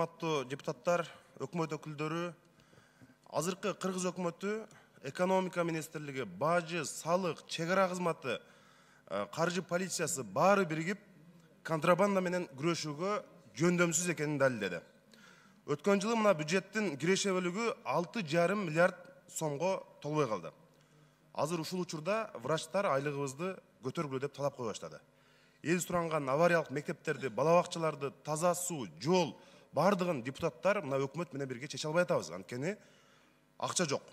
урматтуу депутаттар, өкмөт өкүлдөрү, азыркы Кыргыз өкмөтү экономика министрлиги, бажы, салык, чек ара кызматы, каржы полициясы баары биригип контрабанда менен күрөшүүгө жөндөмсүз экенин далилдеди. Өткөн жылы мына бюджеттин киреше бөлүгү 6,5 миллиард сомго толбой калды. Азыр ушул учурда врачтар айлыгыбызды көтөргүлө деп талап кое баштады. Эл суранган авариялык мектептерди, бала бакчаларды, таза суу, жол бардыгын депутаттар мына өкмөт менен бирге чече албай атабыз, анткени акча жок.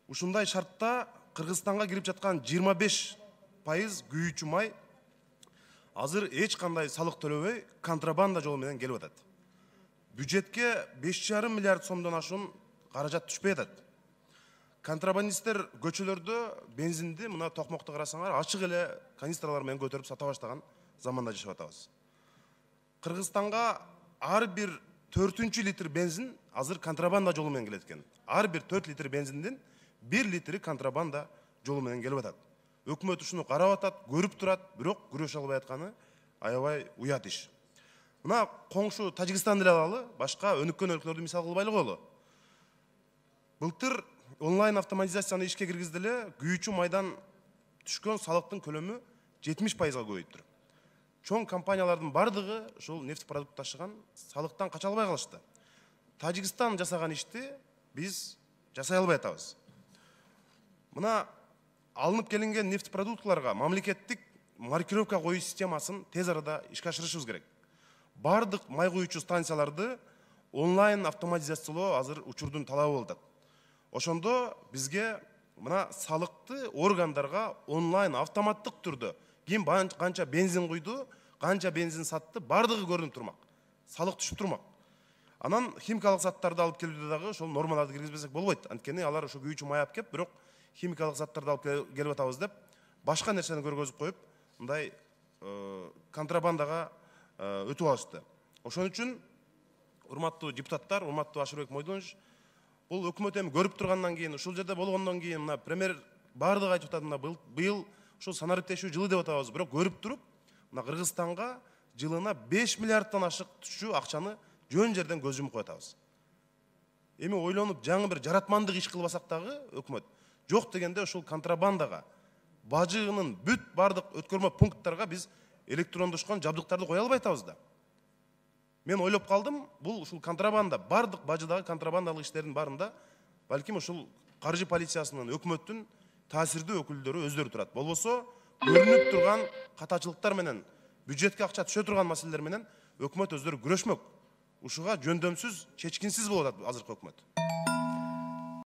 Ушундай шартта Кыргызстанга кирип жаткан 25% күйүүчү май азыр эч кандай салык төлөбөй контрабанда жолу менен келип атат. Бюджетке 5,5 миллиард сомдон ашуун каражат түшпөй атат. Контрабандисттер көчөлөрдө бензинди мына токмокто карасаңар ачык эле канистралар менен көтөрүп сата баштаган заманда жашап атабыз. Кыргызстанга ар бир 4-чү литр бензин азыр контрабанда жолу менен келет экен. Ар бир 4 литр бензиндин 1 литри контрабанда жолу менен келип атат. Өкмөт ушуну карап атат, көрүп турат, бирок күрөшө албай атканы аябай уят иш. Мына коңшу Тажикстанды эле алалы, башка өнүккөн өлкөлөрдү мисал кылбай эле коелу. Былтыр онлайн автоматизацияны ишке киргизди эле, күйүүчү майдан түшкөн салыктын көлөмү 70%га көбөйттүр. Чоң компаниялардын бардыгы ушул нефть продукт ташыган салыктан кача албай калышты. Тажикстан жасаган ишти биз жасай албай атабыз. Мына алынып келинген нефть продуктларга мамлекеттик маркировка коюу системасын тез арада ишке ашырышыбыз керек. Бардык май куюучу станцияларды онлайн автоматизациялоо азыр учурдун талабы болуп атат. Ошондо бизге мына салыкты органдарга онлайн автоматтык түрдө ким канча бензин куйду, канча бензин сатты, бардыгы көрүнүп турмак. Салык түшүп турмак. Анан химикалык заттарды алып келүүдө дагы ошол нормаларды киргизбесек болбойт. Анткени алар ошо күйүүчү май алып кеп, бирок химикалык заттарды алып келип атабыз деп башка нерсени көргөзүп коюп, мындай контрабандага өтүп алышты. Ошон үчүн урматтуу депутаттар, урматтуу Ашырбек Мойдонович, бул өкмөт эми көрүп тургандан кийин, ушул жерде болгондон кийин мына премьер бардыгы айтып атат, мына быйыл ушул санариптешүү жылы деп атабыз, бирок көрүп туруп, мына Кыргызстанга жылына 5 миллиарддан ашык түшүү акчаны жөн жерден көз жумуп коюп атабыз. Эми ойлонуп жаңы бир жаратмандык иш кылбасак дагы өкмөт жок дегенде ушул контрабандага, бажынын бүт бардык өткөрмө пункттарга биз электрондошкон жабдыктарды кое албай атабыз да. Мен ойлоп калдым, бул ушул контрабанда, бардык бажыдагы контрабандалык иштердин барында балким ушул каржы полициясынын, өкмөттүн таасирдүү өкүлдөрү өздөрү турат. Болбосо көрүнүп турган катачылыктар менен, бюджетке акча түшө турган маселелер менен өкмөт өздөрү күрөшмөк. Ушуга жөндөмсүз, чечкинсиз болуп атат азыркы өкмөт.